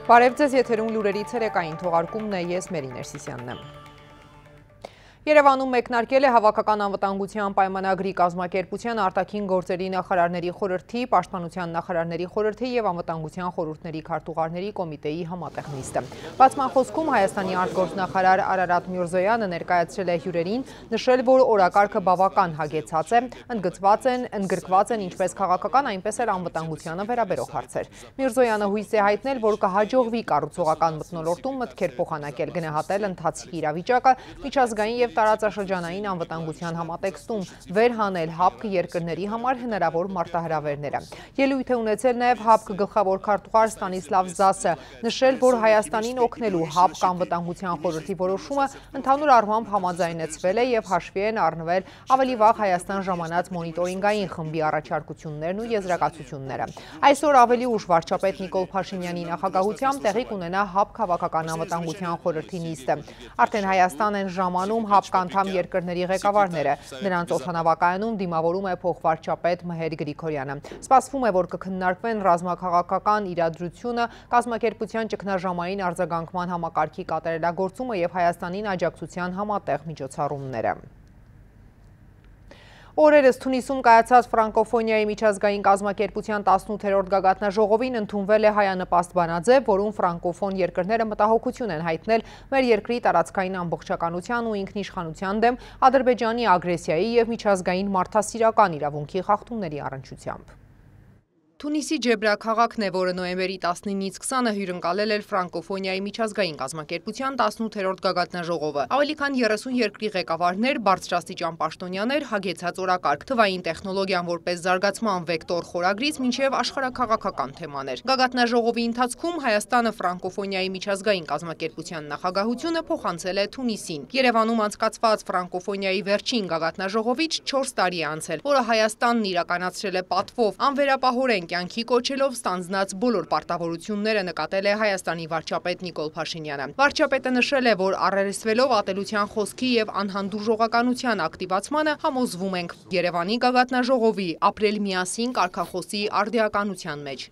Բարև ձեզ, եթերում լուրերի ցերեկային թողարկումն է, ես Մերի Ներսիսյանն եմ։ Երևանում մեկնարկել է հավաքական անվտանգության պայմանագրի կազմակերպության արտաքին գործերի նախարարների խորհրդի, պաշտպանության նախարարների խորհրդի եւ անվտանգության խորհուրդների քարտուղարների կոմիտեի համատեղ նիստը։ Բացման խոսքում Հայաստանի արտգործնախարար Արարատ Միրզոյանը ներկայացրել է հյուրերին, նշել, որ օրակարգը բավական հագեցած է, ընդգրկված են ինչպես քաղաքական, այնպես էլ անվտանգությանը վերաբերող հարցեր։ Միրզոյանը հույս է հայտնել, որ կհաջողվի կառուցողական մթնոլորտում մտքեր փոխանակել, գնահատել ընթացքի իրավիճակը, միջազգային եւ տարածաշրջանային անվտանգության համատեքստում վերհանել ՀԱՊԿ երկրների համար հնարավոր մարտահրավերները։ Ելույթ է ունեցել նաև ՀԱՊԿ գլխավոր քարտուղար Ստանիսլավ Զասը, նշել, որ Հայաստանին օգնելու ՀԱՊԿ անվտանգության խորհրդի որոշումը ընդհանուր առմամբ համաձայնեցվել է եւ հաշվի են առնվել ավելի վաղ Հայաստան ժամանած մոնիտորինգային խմբի առաջարկություններն ու եզրակացությունները։ Այսօր ավելի ուշ վարչապետ Նիկոլ Փաշինյանի նախագահությամբ տեղի կունենա ՀԱՊԿ հավաքական անվտանգության խորհրդի նիստը։ Արդեն Հայաստան են ժամանում ՀԱՊԿ անդամ երկրների ղեկավարները, նրանց օդանավակայանում դիմավորում է փոխվարչապետ Մհեր Գրիգորյանը։ Սպասվում է, որ կքննարկվեն ռազմաքաղաքական իրադրությունը, կազմակերպության ճգնաժամային արձագանքման համակարգի կատարելագործումը եւ Հայաստանին աջակցության համատեղ միջոցառումները։ Օրերս Թունիսում կայացած ֆրանկոֆոնիայի միջազգային կազմակերպության 18-րդ գագաթնաժողովին ընդունվել է հայանպաստ բանաձև, որում ֆրանկոֆոն երկրները մտահոգություն են հայտնել մեր երկրի տարածքային ամբողջականության ու ինքնիշխանության դեմ Ադրբեջանի ագրեսիայի եւ միջազգային մարդասիրական իրավունքի խախտումների առնչությամբ։ Թունիսի Ջեբրա քաղաքն է, որը նոյեմբերի 19-ից 20-ը հյուրընկալել էր ֆրանկոֆոնիայի միջազգային կազմակերպության 18-րդ գագաթնաժողովը։ Ավելի քան 30 երկրի ղեկավարներ, բարձրաստիճան պաշտոնյաներ, հագեցած օրակարգ, թվային տեխնոլոգիան որպես զարգացման վեկտոր խորագրից մինչև աշխարհաքաղաքական թեմաներ։ Գագաթնաժողովի ընթացքում Հայաստանը ֆրանկոֆոնիայի միջազգային կազմակերպության նախագահությունը փոխանցել է Թունիսին։ Երևանում անցկացված ֆրանկոֆոնիայի վերջին գագաթնաժողովից 4 տարի է անցել, որը Հայաստանն իրականացրել է պատվով, անվերապահորեն կյանքի կոչելով ստանձնած բոլոր պարտավորությունները, նկատել է Հայաստանի վարչապետ Նիկոլ Փաշինյանը։ Վարչապետը նշել է, որ առերեսվելով ատելության խոսքի եւ անհանդուրժողականության ակտիվացմանը համոզվում ենք Երևանի գագաթնաժողովի ապրել միասին կարգախոսի արդիականության մեջ։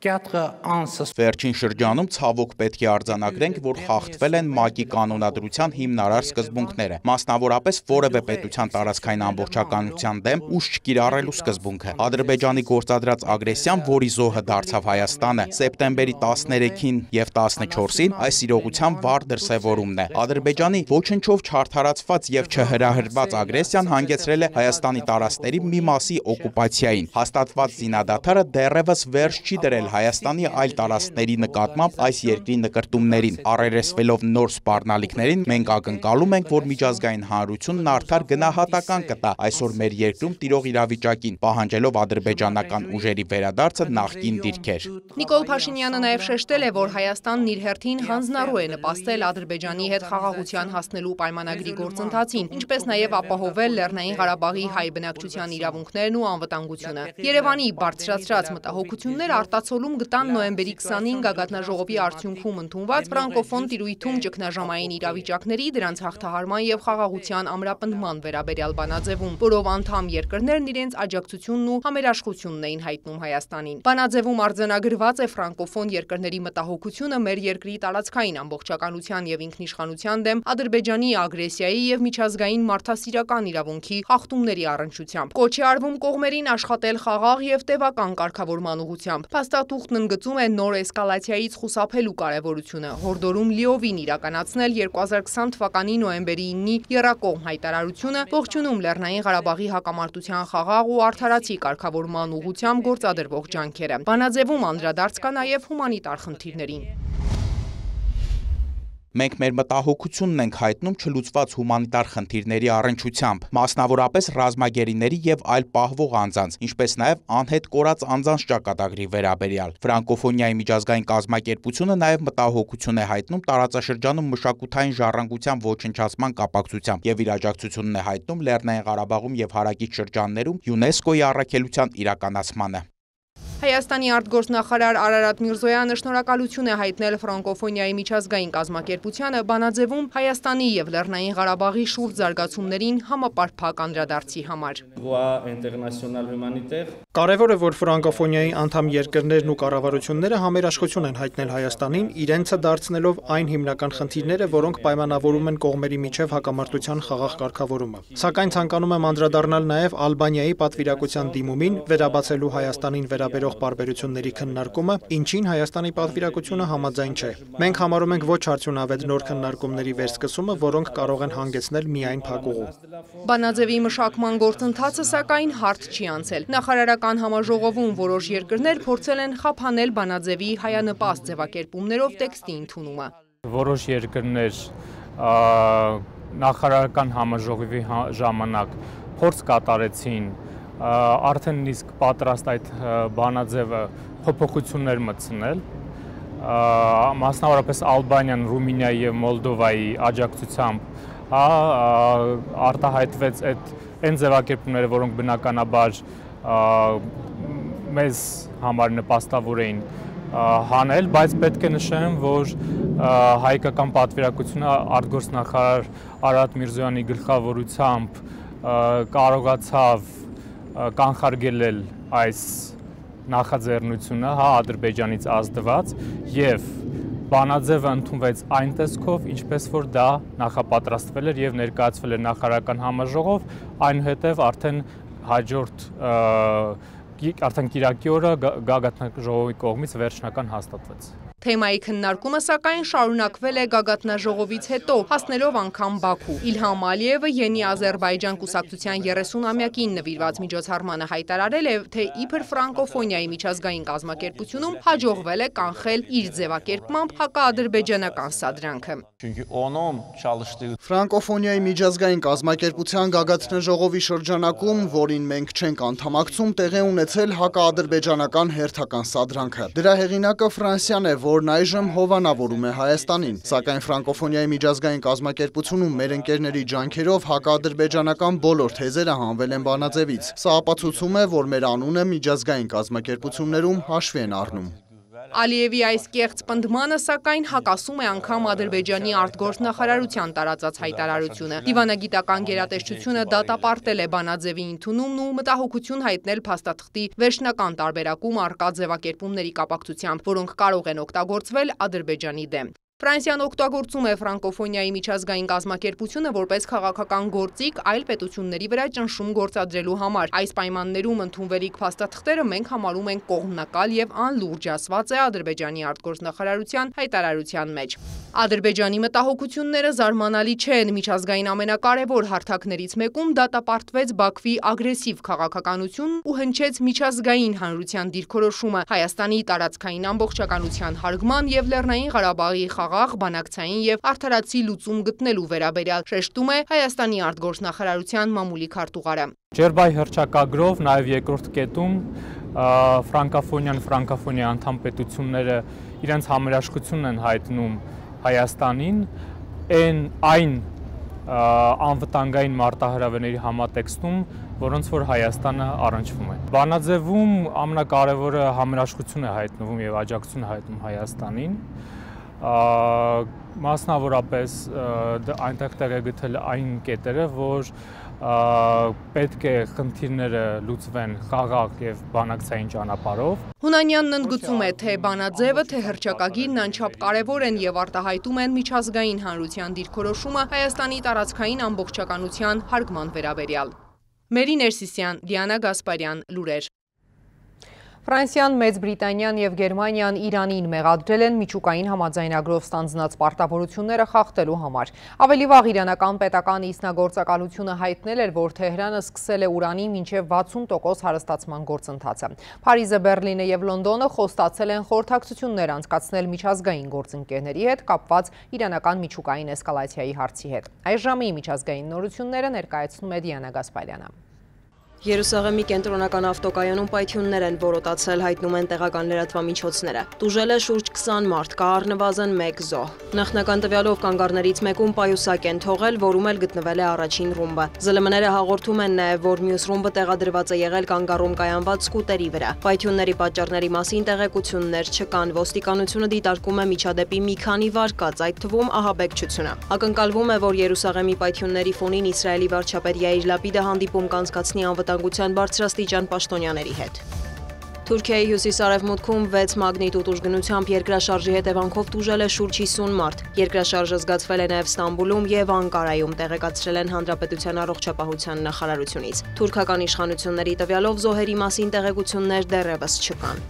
Վերջին շրջանում ցավոք պետք է արձանագրենք, որ խախտվել են ՄԱԿ-ի կանոնադրության հիմնարար սկզբունքները, մասնավորապես որևէ պետության տարածքային ամբողջականության դեմ ուժ չկիրառելու սկզբունքը։ Ադրբեջանի գործադրած ագրեսիան, որի զոհը դարձավ Հայաստանը, սեպտեմբերի 13-ին եւ 14-ին այս իրողության վառ դրսևորումն է։ Ադրբեջանի ոչնչով չարդարացված եւ չհրահրված ագրեսիան հանգեցրել է Հայաստանի տարածքների մի մասի օկուպացիային։ Հաստատված զինադադարը դեռևս վերջ չի դրել Հայաստանի այլ տարածքների նկատմամբ այս երկրի նկրտումներին։ Առերեսվելով նոր սպառնալիքներին, մենք ակնկալում ենք, որ միջազգային հանրությունն արդար գնահատական կտա այսօր մեր երկրում տիրող իրավիճակին, պահանջելով ադրբեջանական ուժերի վերադարձը նախկին դիրքեր։ Նիկոլ Փաշինյանը նաև շեշտել է, որ Հայաստանն իր հերթին հանձնառու է նպաստել Ադրբեջանի հետ խաղաղության հասնելու պայմանագրի գործընթացին, ինչպես նաև ապահովել Լեռնային Ղարաբաղի հայ բնակչության իրավունքներն ու անվտանգությունը։ Երևանի բարձրացրած մտահոգություններ արտացոլում գտան նոյեմբերի 20-ին գագաթնաժողովի արդյունքում ընդունված ֆրանկոֆոն տիրույթում ճգնաժամային իրավիճակների, դրանց հաղթահարման եւ խաղաղության ամրապնդման վերաբերյալ բանաձևում, որով անդամ երկրներն իրենց աջակցությունն ու համերաշխությունն էին հայտնում Հայաստանին։ Բանաձևում արձանագրված է ֆրանկոֆոն երկրների մտահոգությունը մեր երկրի տարածքային ամբողջականության եւ ինքնիշխանության դեմ Ադրբեջանի ագրեսիայի եւ միջազգային մարդասիրական իրավունքի խախտումների առնչությամբ։ Կոչ է արվում կողմերին աշխատել խաղաղ եւ տևական կարգավորման ուղղությամբ։ Փաստաթուղթն ընդգծում է նոր էսկալացիայից խուսափելու կարևորությունը, հորդորում լիովին իրականացնել 2020 թվականի նոյեմբերի 9-ի եռակողմ հայտարարությունը, ողջունում Լեռնային Ղարաբաղի հակամարտության խաղաղ ու արդարացի կարգավորման ուղղությամբ գործադրվող ջանքերը։ Բանաձևում անդրադարձ կա նաև հումանիտար խնդիրներին։ Մենք մեր մտահոգությունն ենք հայտնում չլուծված հումանիտար խնդիրների առնչությամբ, մասնավորապես ռազմագերիների եւ այլ պահվող անձանց, ինչպես նաեւ անհետ կորած անձանց ճակատագրի վերաբերյալ։ Ֆրանկոֆոնիայի միջազգային կազմակերպությունը նաեւ մտահոգություն է հայտնում տարածաշրջանում մշակութային ժառանգության ոչնչացման կապակցությամբ եւ իր աջակցությունն է հայտնում Լեռնային Ղարաբաղում եւ հարակից շրջաններում ՅՈՒՆԵՍԿՕ-ի առաքելության իրականացմանը։ Հայաստանի արտգործնախարար Արարատ Միրզոյանը շնորհակալություն է հայտնել ֆրանկոֆոնիայի միջազգային կազմակերպությանը բանաձևում Հայաստանի եւ Լեռնային Ղարաբաղի շուրջ զարգացումներին համապարփակ անդրադարձի համար։ Կարևոր է, որ ֆրանկոֆոնիայի անդամ երկրներն ու կառավարությունները համերաշխություն են հայտնել Հայաստանին, իրենցը դարձնելով այն հիմնական խնդիրները, որոնք պայմանավորում են կողմերի միջև հակամարտության խաղաղ կարգավորումը։ Սակայն ցանկանում եմ անդրադառնալ նաեւ Ալբանիայի պատվիրակության դիմումին վերաբացելու Հայաստանին վերաբերող պարբերությունների քննարկումը, ինչին Հայաստանի պատվիրակությունը համաձայն չէ։ Մենք համարում ենք ոչ արդյունավետ նոր քննարկումների վերսկսումը, որոնք կարող են հանգեցնել միայն փակուղու։ Բանաձևի մշակման գործընթացը սակայն հարթ չի անցել։ Նախարարական համաժողովում որոշ երկրներ փորձել են խափանել բանաձևի հայանպաստ ձևակերպումներով տեքստի ընդունումը։ Որոշ երկրներ նախարարական համաժողովի ժամանակ փորձ կատարեցին արդեն իսկ պատրաստ այդ բանաձևը փոփոխություններ մտցնել, մասնավորապես Ալբանիան, Ռումինիայի եւ Մոլդովայի աջակցությամբ արտահայտվեց այն ձևակերպումները, որոնք բնականաբար մեզ համար նպաստավոր էին հանել, բայց պետք է նշեմ, որ հայկական պատվիրակությունը արտգործնախարար Արարատ Միրզոյանի գլխավորությամբ կարողացավ կանխարգելել այս նախաձեռնությունը Ադրբեջանից ազդված եւ բանաձևը ընդունվեց այն տեսքով, ինչպես որ դա նախապատրաստվել էր եւ ներկայացվել էր նախարարական համաժողով, այնուհետեւ արդեն հաջորդ կիրակի օրը գագաթնաժողովի կողմից վերջնական հաստատվեց։ Թեմայի քննարկումը սակայն շարունակվել է գագաթնաժողովից հետո, հասնելով անգամ Բաքու։ Իլհամ Ալիևը Յենի Ադրբեջան կուսակցության 30-ամյակին նվիրված միջոցառմանը հայտարարել է, թե իբր ֆրանկոֆոնիայի միջազգային կազմակերպությունում հաջողվել է կանխել իր ձևակերպմամբ հակաադրբեջանական սադրանքը։ Ֆրանկոֆոնիայի միջազգային կազմակերպության գագաթնաժողովի շրջանակում, որին մենք չենք անդամակցում, տեղի ունեցել հակաադրբեջանական հերթական սադրանքը։ Դրա հեղինակը Ֆրանսիան է, որն այժմ հովանավորում է Հայաստանին, սակայն ֆրանկոֆոնիայի միջազգային կազմակերպությունում մեր ընկերների ջանքերով հակաադրբեջանական բոլոր թեզերը հանվել են բանաձևից։ Սա ապացուցում է, որ մեր անունը միջազգային կազմակերպություններում հաշվի են առնում։ Ալիևի այս կեղծ պնդմանը սակայն հակասում է անգամ Ադրբեջանի արտգործնախարարության տարածած հայտարարությունը։ Դիվանագիտական գերատեսչությունը դատապարտել է բանաձևի ընդունումն ու մտահոգություն հայտնել փաստաթղթի վերջնական տարբերակում առկա ձևակերպումների կապակցությամբ, որոնք կարող են օգտագործվել Ադրբեջանի դեմ։ Ֆրանսիան օգտագործում է ֆրանկոֆոնիայի միջազգային կազմակերպությունը որպես քաղաքական գործիք այլ պետությունների վրա ճնշում գործադրելու համար։ Այս պայմաններում ընդունվելիք փաստաթղթերը մենք համարում ենք կողմնակալ եւ անլուրջ, ասված է Ադրբեջանի արտգործնախարարության հայտարարության մեջ։ Ադրբեջանի մտահոգությունները զարմանալի չեն։ Միջազգային ամենակարևոր հարթակներից մեկում դատապարտվեց Բաքվի ագրեսիվ քաղաքականություն ու հնչեց միջազգային հանրության դիրքորոշումը Հայաստանի տարածքային ամբողջականության հարգման եւ Լեռնային Ղարաբաղի խաղաղ, բանակցային եւ արդարացի լուծում գտնելու վերաբերյալ, շեշտում է Հայաստանի արտգործնախարարության մամուլի քարտուղարը։ Ջերբայի հռչակագրով նաեւ երկրորդ կետում ֆրանկոֆոնիայի անդամ պետությունները իրենց համերաշխությունն են հայտնում Հայաստանին այն անվտանգային մարտահրավերների համատեքստում, որոնց որ Հայաստանը առնչվում է։ Բանաձևում ամենակարևորը համերաշխություն է հայտնվում եւ աջակցություն է հայտնում Հայաստանին։ Մասնավորապես այնտեղ տեղ է գտել այն կետերը, որ պետք է խնդիրները լուծվեն խաղաղ եւ բանակցային ճանապարհով։ Հունանյանն ընդգծում է, թե բանաձևը, թե հռչակագիրն անչափ կարևոր են եւ արտահայտում են միջազգային հանրության դիրքորոշումը Հայաստանի տարածքային ամբողջականության հարգման վերաբերյալ։ Մերի Ներսիսյան, Դիանա Գասպարյան, լուրեր։ Ֆրանսիան, Մեծ Բրիտանիան եւ Գերմանիան Իրանին մեղադրել են միջուկային համաձայնագրով ստանձնած պարտավորությունները խախտելու համար։ Ավելի վաղ իրանական պետական ինքնագործակալությունը հայտնել էր, որ Թեհրանը սկսել է ուրանի մինչև 60% հարստացման գործընթացը։ Փարիզը, Բեռլինը եւ Լոնդոնը խոստացել են խորհրդակցություններ անցկացնել միջազգային գործընկերների հետ կապված իրանական միջուկային էսկալացիայի հարցի հետ։ Այս ժամի միջազգային նորությունները ներկայացնում է Դիանա Գասպարյանը։ Երուսաղեմի կենտրոնական ավտոկայանում պայթյուններ են որոտացել, հայտնում են տեղական լրատվամիջոցները։ Տուժել է շուրջ 20 մարդ, կա առնվազն 1 զոհ։ Նախնական տվյալով կանգառներից մեկում պայուսակ են թողել, որում էլ գտնվել է առաջին ռումբը։ ԶԼՄ-ները հաղորդում են նաև, որ մյուս ռումբը տեղադրված է եղել կանգառում կայանված սկուտերի վրա։ Պայթյունների պատճառների մասին տեղեկություններ չկան։ Ոստիկանությունը դիտարկում է միջադեպի մի քանի վարկած, այդ թվում ահաբեկչությունը։ Ակնկալվում է, որ Երուսաղեմի պայթյունների ֆոնին Իսրայելի վարչապետ Յայիր Լապիդը հանդիպում կանցկացնի անվտանգության բարձրաստիճան պաշտոնյաների հետ։ Թուրքիայի հյուսիս-արևմուտքում 6 մագնիտուդ ուժգնությամբ երկրաշարժի հետևանքով տուժել է շուրջ 50 մարդ։ Երկրաշարժը զգացվել է նաև Ստամբուլում եւ Անկարայում, տեղեկացրել են Հանրապետության առողջապահության նախարարությունից։ Թուրքական իշխանությունների տվյալով զոհերի մասին տեղեկություններ դեռևս չկան։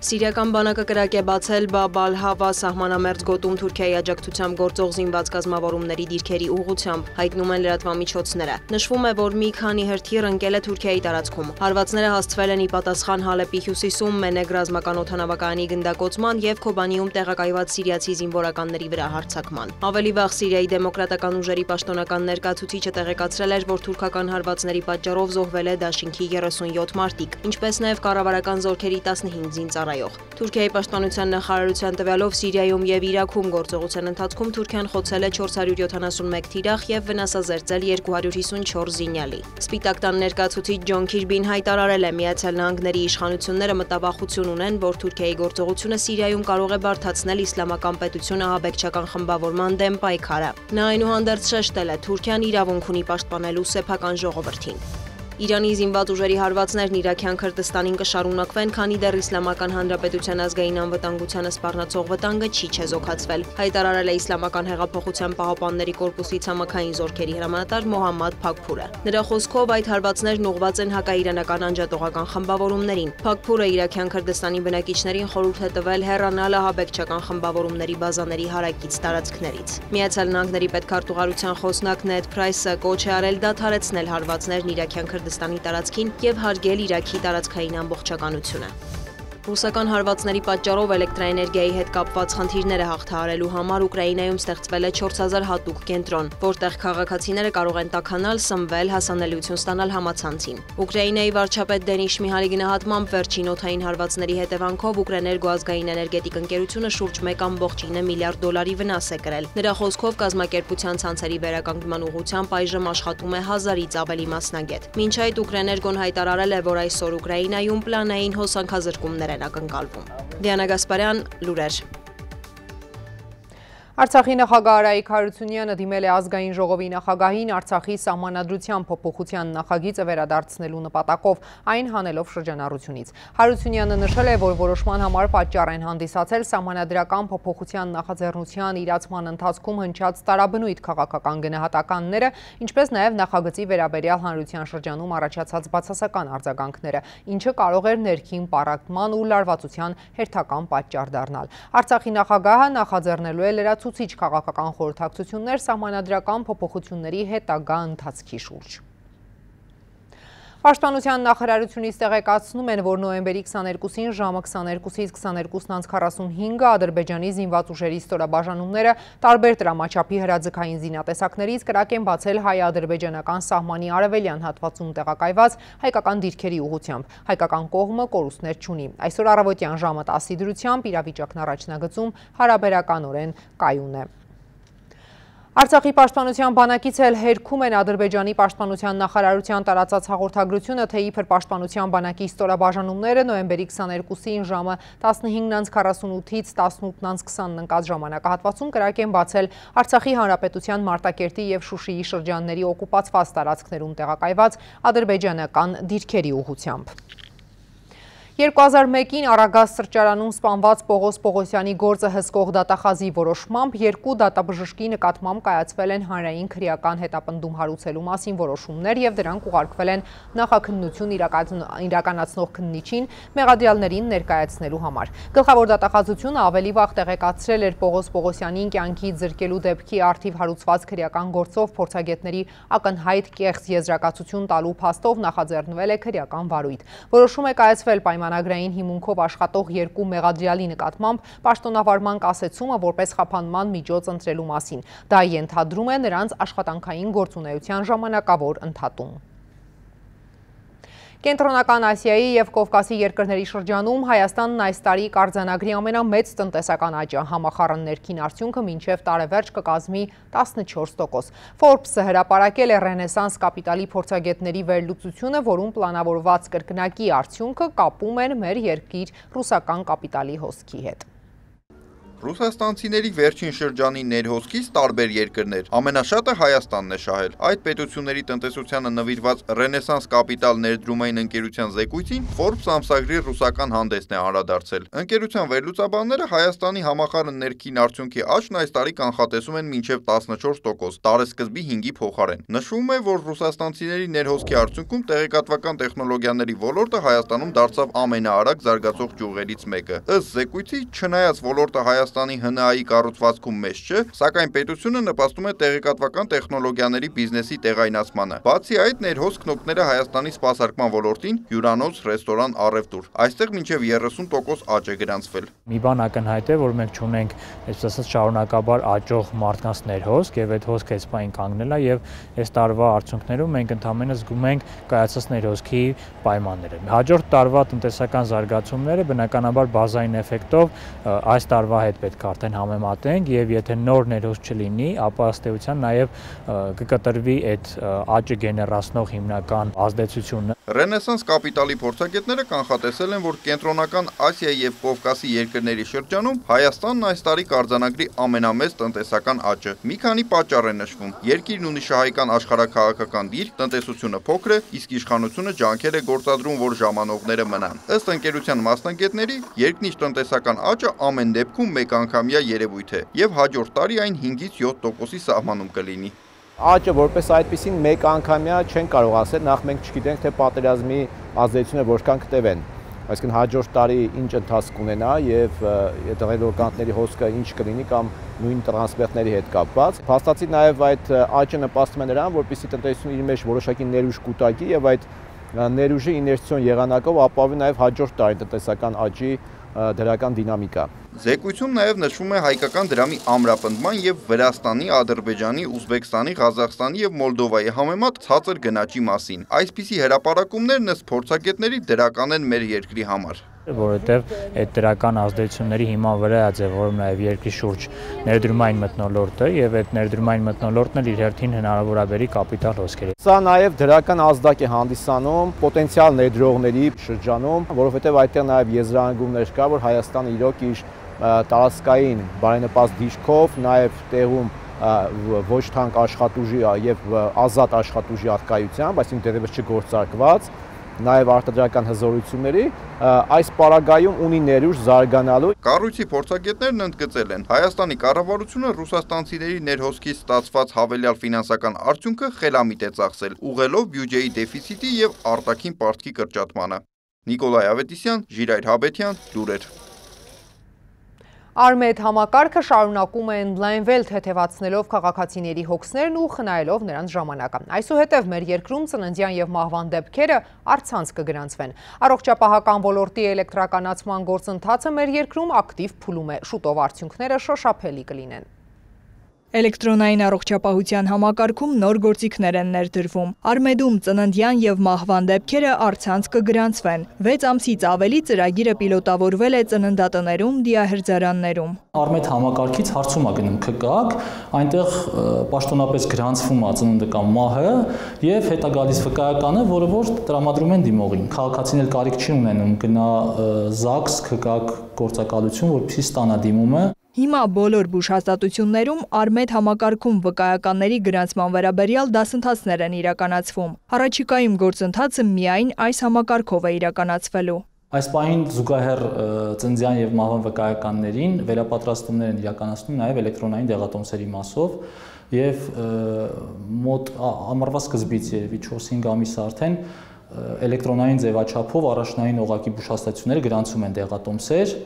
Սիրիական բանակը կրակ է բացել Բաբ ալ-Հավա սահմանամերձ գոտում Թուրքիայի աջակցությամբ գործող զինված կազմավորումների դիրքերի ուղղությամբ, հայտնում են լրատվամիջոցները։ Նշվում է, որ մի քանի հրթիռ ընկել է Թուրքիայի տարածքում։ Հարվածները հասցվել են ի պատասխան Հալեպի հյուսիսում Մենեգ ռազմական օդանավակայանի գնդակոծման եւ Քոբանիում տեղակայված սիրիացի զինվորականների վրա հարձակման։ Ավելի վաղ Սիրիայի դեմոկրատական ուժերի պաշտոնական ներկայացուցիչը տեղեկացրել էր, որ թուրքական հարվածների պատճառով զոհվել է դաշինքի 37 մարտիկ, ինչպես նաեւ կառավարական զորքերի 15 զինծառայող։ Թուրքիայի պաշտպանության նախարարության տվյալով Սիրիայում եւ Իրաքում գործողության ընթացքում Թուրքիան խոցել է 471 թիրախ եւ վնասազերծել 254 զինյալի։ Սպիտակ տան ներկայացուցիչ Ջոն Քիրբին հայտարարել է, Միացյալ Նահանգների իշխանությունները մտավախություն ունեն, որ Թուրքիայի գործողությունը Սիրիայում կարող է բարդացնել իսլամական պետությունը ահաբեկչական խմբավորման դեմ պայքարը։ Նա այնուհանդերձ շեշտել է, Թուրքիան իրավունք ունի պաշտպանելու սեփական ժողովրդին։ Իրանի զինված ուժերի հարվածներն Իրաքյան Քրդստանին կշարունակվեն, քանի դեռ Իսլամական Հանրապետության ազգային անվտանգությանը սպառնացող վտանգը չի չեզոքացվել, հայտարարել է Իսլամական հեղափոխության պահապանների կորպուսի ցամաքային զորքերի հրամանատար Մոհամմադ Փաքփուրը։ Նրա խոսքով այդ հարվածներն ուղղված են հակաիրանական անջատողական խմբավորումներին։ Փաքփուրը Իրաքյան Քրդստանի բնակիչներին խորհուրդ է տվել հեռանալ ահաբեկչական խմբավորումների բազաների հարակից տարածքներից։ Միացյալ Նահանգների պետքարտուղարության խոսնակ Նեդ Փրայսը կոչ է արել դադարեցնել հարվածներն Իրաքյան Քրդստանի տարածքին եւ հարգել Իրաքի տարածքային ամբողջականությունը։ Ռուսական հարվածների պատճառով էլեկտրաէներգիայի հետ կապված խնդիրները հաղթահարելու համար Ուկրաինայում ստեղծվել է 4000 հատուկ կենտրոն, որտեղ քաղաքացիները կարող են տաքանալ, սնվել, հասանելիություն ստանալ համացանցին։ Ուկրաինայի վարչապետ Դենիս Շմիհալի գնահատմամբ վերջին օդային հարվածների հետևանքով Ուկրեներգո ազգային էներգետիկ ընկերությունը շուրջ 1.9 միլիարդ դոլարի վնաս է կրել։ Նրա խոսքով կազմակերպության ցանցերի վերականգնման ուղղությամբ այժմ աշխատում է 1000-ից ավելի մասնագետ։ Մինչ այդ Ուկրեներգոն հայտարարել է, որ այսօր Ուկրաինայում պլանային հոսանքազրկումներ են ակնկալվում։ Դիանա Գասպարյան, լուրեր։ Արցախի նախագահ Արայիկ Հարությունյանը դիմել է ազգային ժողովի նախագահին Արցախի սահմանադրության փոփոխության նախագիծը վերադարձնելու նպատակով, այն հանելով շրջանառությունից։ Հարությունյանը նշել է, որ որոշման համար պատճառ են հանդիսացել սահմանադրական փոփոխության նախաձեռնության իրացման ընթացքում հնչած տարաբնույթ քաղաքական գնահատականները, ինչպես նաև նախագծի վերաբերյալ հանրության շրջանում առաջացած բացասական արձագանքները, ինչը կարող էր ներքին պառակտման ու լարվածության հերթական պատճառ դառնալ։ Արցախի նախագահը նախաձեռնելու է լրացուցիչ քաղաքական խորհրդակցություններ սահմանադրական փոփոխությունների հետագա ընթացքի շուրջ։ Պաշտպանության նախարարությունից տեղեկացնում են, որ նոյեմբերի 22-ին ժամը 22-ից 22:45 Ադրբեջանի զինված ուժերի ստորաբաժանումները տարբեր տրամաչափի հրաձգային զինատեսակներից կրակ են բացել հայ-ադրբեջանական սահմանի արևելյան հատվածում տեղակայված հայկական դիրքերի ուղղությամբ։ Հայկական կողմը կորուստներ չունի։ Այսօր առավոտյան ժամը 10-ի դրությամբ իրավիճակն առաջնագծում հարաբերականորեն կայուն է։ Արցախի պաշտպանության բանակից էլ հերքում են Ադրբեջանի պաշտպանության նախարարության տարածած հաղորդագրությունը, թե իբր պաշտպանության բանակի ստորաբաժանումները նոյեմբերի 22-ին ժամը 15:48-ից 18:20 ընկած ժամանակահատվածում կրակ են բացել Արցախի հանրապետության Մարտակերտի եւ Շուշիի շրջանների օկուպացված տարածքներում տեղակայված ադրբեջանական դիրքերի ուղղությամբ։ 2001-ին Արագած սրճարանում սպանված Պողոս Պողոսյանի գործը հսկող դատախազի որոշմամբ երկու դատաբժշկի նկատմամբ կայացվել են հանրային քրեական հետապնդում հարուցելու մասին որոշումներ եւ դրանք ուղարկվել են նախաքննություն իրականացնող քննիչին մեղադրյալներին ներկայացնելու համար։ Գլխավոր դատախազությունը ավելի վաղ տեղեկացրել էր Պողոս Պողոսյանին կյանքից զրկելու դեպքի արդիվ հարուցված քրեական գործով փորձագետների ակնհայտ կեղծ եզրակացություն տալու փաստով նախաձեռնվել է քրեական վարույթ։ Որոշում է կայացվել պայմանագրային հիմունքով աշխատող երկու մեղադրյալի նկատմամբ պաշտոնավարման կասեցումը որպես խափանման միջոց ընտրելու մասին։ Դա ենթադրում է նրանց աշխատանքային գործունեության ժամանակավոր ընդհատում։ Կենտրոնական Ասիայի և Կովկասի երկրների շրջանում Հայաստանն այս տարի կարձանագրի ամենամեծ տնտեսական աճը, համախառն ներքին արդյունքը մինչև տարեվերջ կկազմի 14%։ Forbes-ը հրապարակել է Ռենեսանս կապիտալի փորձագետների վերլուծությունը, որում պլանավորված կրկնակի արդյունքը կապում են մեր երկիր ռուսական կապիտալի հոսքի հետ։ Ռուսաստանցիների վերջին շրջանի ներհոսքից տարբեր երկրներ, ամենաշատը Հայաստանն է շահել։ Այդ պետությունների տնտեսությանը նվիրված Ռենեսանս կապիտալ ներդրումային ընկերության զեկույցին Forbes ամսագրի ռուսական հանդեսն է անդրադարձել։ Ընկերության վերլուծաբանները Հայաստանի համախառն ներքին արդյունքի աճն այս տարի կանխատեսում են մինչև 14%, տարեսկզբի 5-ի փոխարեն։ Նշվում է, որ ռուսաստանցիների ներհոսքի արդյունքում տեղեկատվական տեխնոլոգիաների ոլորտը Հայաստանում դարձավ ամենաարագ զարգացող ճյուղերից մեկը։ Ըստ զեկույցի, չնայած ոլորտը Հայաստանի ՀՆԱ-ի կառուցվածքում մեծ չէ, սակայն պետությունը նպաստում է տեղեկատվական տեխնոլոգիաների բիզնեսի տեղայնացմանը։ Բացի այդ, ներհոսքն օգնել է Հայաստանի սպասարկման ոլորտին, հյուրանոց, ռեստորան, առևտուր։ Այստեղ մինչև 30% աճ է գրանցվել։ Մի բան ակնհայտ է, որ մենք չունենք, այսպես ասած, շարունակաբար աճող մարդկանց ներհոսք, եւ այդ հոսքը այսպայն կանգնել է, եւ այս տարվա արդյունքներում մենք ընդհանրապես զգում ենք կայացած ներհոսքի պայմանները։ Հաջորդ տարվա տնտեսական զարգացումները բնականաբար բազային էֆեկտով այս տարվա հետ պետք է արդեն համեմատենք, եւ եթե նոր ներհոսք չլինի, ապա ըստ էության նաեւ կկտրվի այդ աճը գեներացնող հիմնական ազդեցությունը։ Ռենեսանս կապիտալի փորձագետները կանխատեսել են, որ Կենտրոնական Ասիայի եւ Կովկասի երկրների շրջանում Հայաստանն այս տարի կարձանագրի ամենամեծ տնտեսական աճը։ Մի քանի պատճառ է նշվում։ Երկիրն ունի շահեկան աշխարհաքաղաքական դիրք, տնտեսությունը փոքր է, իսկ իշխանությունը ջանքեր է գործադրում, որ ժամանողները մնան։ Ըստ ընկերության մասնագետների, երկնիշ տնտեսական աճը ամեն դեպքում մեկ անգամյա երևույթ է եւ հաջորդ տարի այն 5-ից 7%-ի սահմանում կլինի։ Աճը որպես այդպեսին մեկ անգամյա չեն կարող ասել, նախ մենք չգիտենք, թե պատերազմի ազդեցությունը որքան կտևեն։ Այսինքն հաջորդ տարի ինչ ընթացք կունենա եւ տեղեկատվականների հոսքը ինչ կլինի կամ նույն տրանսպերտների հետ կապված։ Փաստացի նաեւ այդ աճը նպաստում է նրան, որպեսզի տնտեսությունը իր մեջ որոշակի ներուժ կուտակի եւ այդ ներուժի իներցիոն եղանակով ապավի նաեւ հաջորդ տարի տնտեսական աճի դրական դինամիկա։ Զեկույցում նաև նշվում է հայկական դրամի ամրապնդման եւ Վրաստանի, Ադրբեջանի, Ուզբեկստանի, Ղազախստանի եւ Մոլդովայի համեմատ ցածր գնաճի մասին։ Այսպիսի հրապարակումներն ըստ փորձագետների դրական են մեր երկրի համար։ Որովհետև այդ դրական ազդեցությունների հիման վրա է ձևավորվում նաև երկրի շուրջ ներդրումային մթնոլորտը եւ այդ ներդրումային մթնոլորտն էլ իր հերթին հնարավոր է բերի կապիտալ հոսքերի։ Սա նաև դրական ազդակ է հանդիսանում պոտենցիալ ներդրողների շրջանում, որովհետև այդտեղ նաև եզրահանգումներ կա, որ Հայաստանը իրոք իր տարածքային բարենպաստ դիրքով նաև տեղում ոչ թանկ աշխատուժի եւ ազատ աշխատուժի արկայությամբ, այսինքն դեռևս չգործարկված նաև արտադրական հզորությունների այս պարագայում ունի ներուժ զարգանալու։ Կառույցի փորձագետներն ընդգծել են, Հայաստանի կառավարությունը ռուսաստանցիների ներհոսքից ստացված հավելյալ ֆինանսական արդյունքը խելամիտ է ծախսել, ուղղելով բյուջեի դեֆիցիտի եւ արտաքին պարտքի կրճատմանը։ Նիկոլայ Ավետիսյան, Ժիրայր Հաբետյան, լուրեր։ Արմեդ համակարգը շարունակում է ընդլայնվել թեթևացնելով քաղաքացիների հոգսներն ու խնայելով նրանց ժամանակը։ Այսուհետև մեր երկրում ծննդյան եւ մահվան դեպքերը առցանց կգրանցվեն։ Առողջապահական ոլորտի էլեկտրականացման գործընթացը մեր երկրում ակտիվ փուլում է։ Շուտով արդյունքները շոշափելի կլինեն։ Էլեկտրոնային առողջապահության համակարգում նոր գործիքներ են ներդրվում։ Արմեդում ծննդյան եւ մահվան դեպքերը առցանց կգրանցվեն։ 6 ամսից ավելի ծրագիրը պիլոտավորվել է ծննդատներում, դիահերձարաններում։ Արմեդ համակարգից հարցում է գնում ՔԿԱԿ, այնտեղ պաշտոնապես գրանցվում է ծնունդը կամ մահը եւ հետա գալիս վկայականը, որը որ տրամադրում են դիմողին։ Քաղաքացին էլ կարիք չի ունենում գնա ԶԱԳՍ ՔԿԱԿ գործակալություն, որպեսզի ստանա դիմումը։ Հիմա բոլոր բուժհաստատություններում Արմեդ համակարգում վկայականների գրանցման վերաբերյալ դասընթացներ են իրականացվում։ Առաջիկայում գործընթացը միայն այս համակարգով է իրականացվելու։ Այս պահին զուգահեռ ծննդյան եւ մահվան վկայականներին վերապատրաստումներ են իրականացնում նաեւ էլեկտրոնային դեղատոմսերի մասով եւ մոտ ամառվա սկզբից երևի 4-5 ամիս արդեն էլեկտրոնային ձևաչափով առաջնային օղակի բուժհաստատությունները գրանցում են դեղատոմսեր,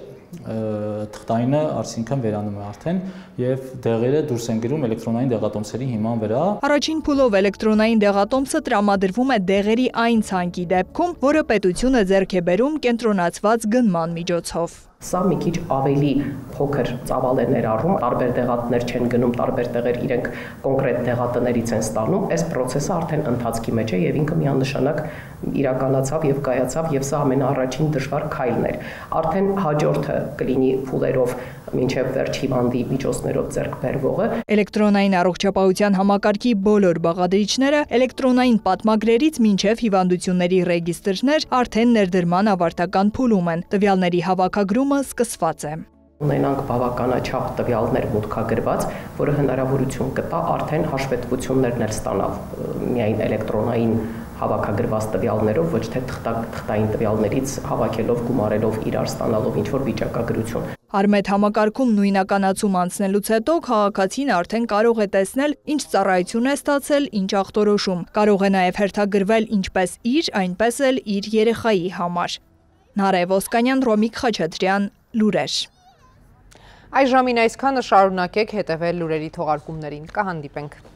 թղթայինը արդյունքն վերանում է արդեն եւ դեղերը դուրս են գրում էլեկտրոնային դեղատոմսերի հիման վրա։ Առաջին փուլով էլեկտրոնային դեղատոմսը տրամադրվում է դեղերի այն ցանկի դեպքում, որը պետությունը ձեռք է բերում կենտրոնացված գնման միջոցով։ Սա մի քիչ ավելի փոքր ծավալ է ներառում, տարբեր դեղատներ չեն գնում, տարբեր տեղեր իրենք կոնկրետ դեղատներից են ստանում, այս process-ը արդեն ընթացքի մեջ է եւ ինքը միանշանակ իրականացավ եւ կայացավ եւ սա ամենաառաջին դժվար քայլն էր։ Արդեն հաջորդը կլինի փուլերով մինչև վերջ հիվանդի միջոցներով ձեռք բերվողը։ Էլեկտրոնային առողջապահության համակարգի բոլոր բաղադրիչները էլեկտրոնային պատմագրերից մինչև հիվանդությունների ռեգիստրներ արդեն ներդրման ավարտական փուլում են։ Տվյալների հավաքագրումը սկսված է։ Ունենանք բավականաչափ տվյալներ մուտքագրված, որը հնարավորություն կտա արդեն հաշվետվություններն էլ ստանալ միայն էլեկտրոնային հավաքագրված տվյալներով, ոչ թե թղթային տվյալներից հավաքելով, գումարելով իրար ստանալով ինչ-որ վիճակագրություն։ Արմեդ համակարգում նույնականացում անցնելուց հետո քաղաքացին արդեն կարող է տեսնել, ինչ ծառայություն է ստացել, ինչ ախտորոշում։ Կարող է նաև հերթագրվել ինչպես իր, այնպես էլ իր երեխայի համար։ Նարե Ոսկանյան, Ռոմիկ Խաչատրյան, լուրեր։ Այս ժամին այսքանը, շարունակեք հետևել լուրերի թողարկումներին, կհանդիպենք։